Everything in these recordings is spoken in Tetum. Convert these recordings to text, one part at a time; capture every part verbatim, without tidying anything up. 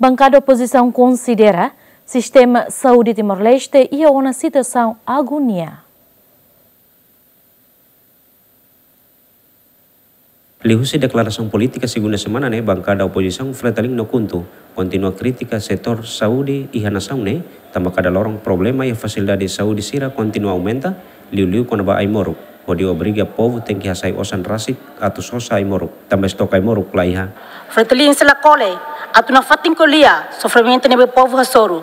Bankada opozisaun konsidera sistema saúde Timor-Leste iha ona situasaun agonia. Liuhusi deklarasaun polítika segunda semana ne'e, bankada opozisaun Fretilin no KHUNTO kontinua kritika setór saúde iha nasaun ne'e, tanba kada loron problema iha fasilidade saúde sira kontinua aumenta, liuliu kona-ba ai-moruk, hodi obriga povu tenke hasai osan rasik atu sosa ai-moruk, tanba estok ai-moruk laiha. Fretilin sei la kole atu nafatin ko'alia sofrimentu ne'ebé povu hasoru,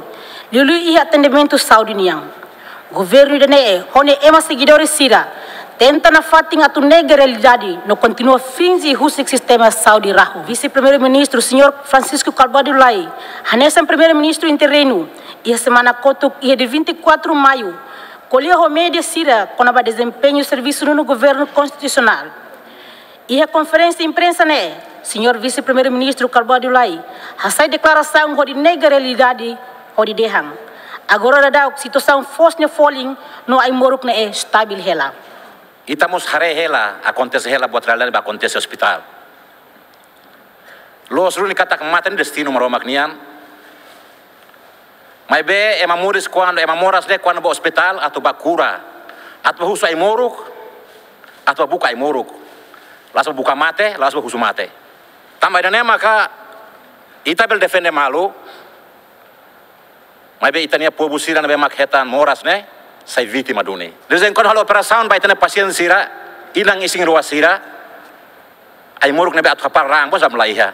liuliu iha atendimentu saúde nian. Governu ida-ne'e ho nia ema segidores sira tenta nafatin atu nega realidade no kontinua finje husik sistema saúde rahun. Vise-Primeiru-Ministru, Señór Francisco Carbó de Lay, hanesan Primeiru-Ministru interinu, iha semana kotuk, iha dia vinte e quatro Maiu, ko'alia ho média sira kona-ba dezempeñu servisu nonu governu konstitusionál. Iha konferénsia imprensa ne'e, Señór Vise-Primeiru-Ministru Carbó de Lay hasai deklarasaun hodi nega realidade, hodi dehan: Agora daudaun situasaun foos nia folin no ai-moruk ne'e stabil hela. Ita mós haree hela, akontese hela buat realidade ba akontese ospitál. Loos duni katak mate ne'e destinu Maromak nian. Maibé ema moris kuandu, ema moras ne'e kuandu ba ospitál atu ba kura, atu ba husu ai-moruk, atu ba buka ai-moruk. La'ós ba buka mate, la'ós ba husu mate. Tanba ida-ne'e maka ita bele defende malu, maibé ita-nia povu sira ne'ebé mak hetan moras ne'e sai vítima duni. De vez em quando halo operasaun ba ita-nia pasiente sira, inan isin-rua sira, ai-moruk ne'ebé atu hapara raan, bos am laiha.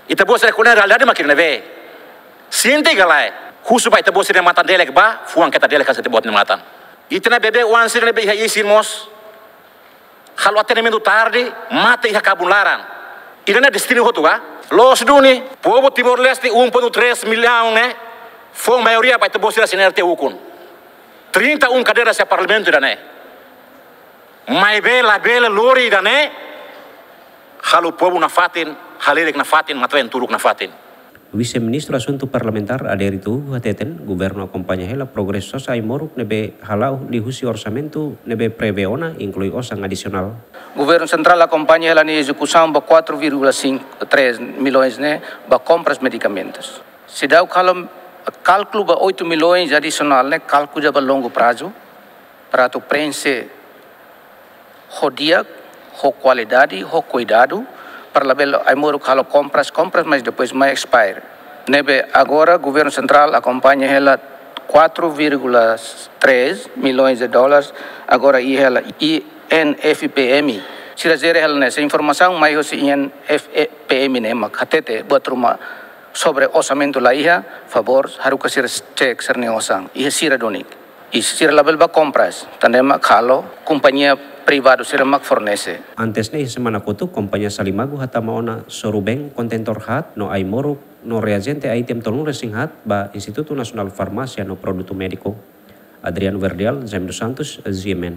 Ita-boot sira ko'alia realidade mak ne'ebé. Sente ka lae, husu ba ita-boot sira-nia matan delek ba, fuan keta delek hanesan ita-boot nia matan. Ita-nia bebé oan sira ne'ebé iha isin mós halo atendimentu tarde, mate iha kabun laran. Ida-ne'e destinu hotu ka? Loos duni, povu Timor-Leste um ponto três milhão ne'e fó maioria ba ita-boot sira CNRT ukun. Trinta e um cadeiras iha parlamentu ida-ne'e. Maibé labele lori ida-ne'e halo povu nafatin, halerik nafatin, matan-been turuk nafatin. Vise-Ministru Asuntu Parlamentár Adérito Uhu hateten, governu akompaña hela progresu sosa ai-moruk ne'ebé hala'o liuhusi orsamentu ne'ebé prevee ona, inklui osan adisionál. Governu sentrál akompaña hela nia ezekusaun ba quatro vírgula cinco três milhões ne'e ba kompras medikamentus. Seidauk halo kálkulu ba oito milhões adisionál ne'e, kálkulu ba longu prazu, para atu preenxe ho di'ak, ho kualidade, ho kuidadu, para labele ai-moruk halo kompras, kompras, mas depois mai expire. Ne'ebé agora governu sentrál akompaña hela quatro vírgula três milhões de dólares, agora iha hela INFPM. Sira jere hela ne'e, se informasaun mai hosi INFPM ne'e mak hatete buat ruma sobre orsamentu laiha, favór haruka sira cek sira-nia osan, iha sira duni. I sira labele ba kompras, tan ne'e mak halo kompañia privadu sira mak fornese. Antes ne'e, iha semana kotuk, kompañia Salimagu hatama ona sorubeen kontentór haat no ai-moruk no reajente item tolunulu-resin-haat ba Institutu Nasionál Farmásia no Produtu Médiku. Adriano Verdial, Jaime dos Santos, G M N.